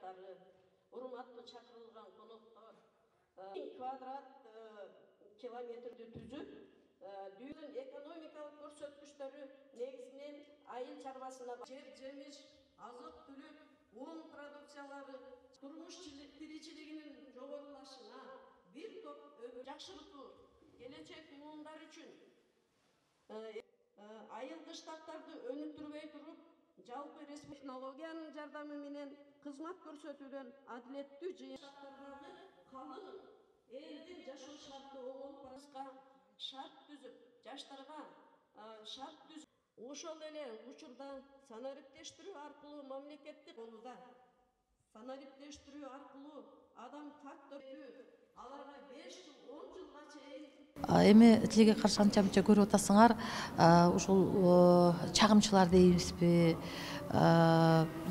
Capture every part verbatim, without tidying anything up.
жаштары, урматтуу чакырылган коноктор, квадрат километрди түзүп, дүйнөнүн экономикалык көрсөткүчтөрү негизинен айыл чарбасына жер жемиш, азык-түлүк, un продукциялары, турмуш тиричилигинин жогорулашына, бир топ жакшыртуу, келечек муундар үчүн айылгы штаттарды өнүктүрбөй туруп, жалпы технологиянын жардамы менен кызмат көрсөтүүдөн адилеттүү жыйынтыктардагы калың элдин жашоо шарты оңолуп бараска шарт түзүп, жаштарга шарт түзүп, ошол эле учурда санариптештирүү аркылуу мамлекеттик колуда санариптештирүү аркылуу адам фактор аларга беш жыл он жылга чейин. Эми тилге каршы анча мынча көрүп атасыңар, ушул чагымчылар дейбизби,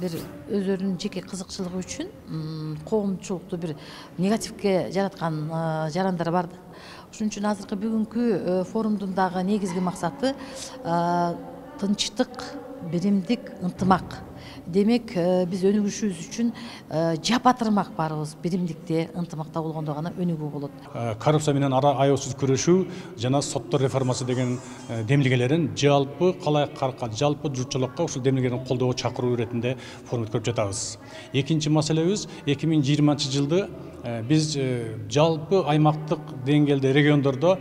бир өздөрүнүн жеке кызыкчылыгы үчүн коомчулукту бир негативге жараткан жарандар бар да. Ошон үчүн азыркы бүгүнкү форумдун дагы негизги максаты тынчтык, биримдик, ынтымак. Демек, биз өнүгүшүбүз үчүн жапатырмак барыбыз биримдикте, ынтымакта болгондо гана өнүгүү болот. Коррупция менен аябсыз күрөшүү жана соттор реформасы деген демилгелерин жалпы калайкка, жалпы журтчулукка ушул демилгелерин колдоого чакыруу иретинде форум өткөрүп жатабыз. Экинчи маселебиз эки миң жыйырманчы жылды биз жалпы аймактык деңгээлде региондордо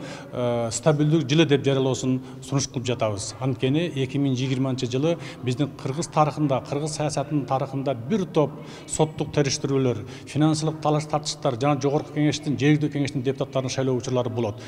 стабилдүү жылы деп жарыялоосун сунуш кылып жатабыз. Анткени эки миң жыйырманчы жылы биздин кыргыз тарыхында, кыргыз саясатынын тарыхында бир топ соттук териштирүүлөр, финансылык талаш тартыштар жана жогорку кеңештин, жергиликтүү кеңештин депутаттарын шайлоо учурлары болот.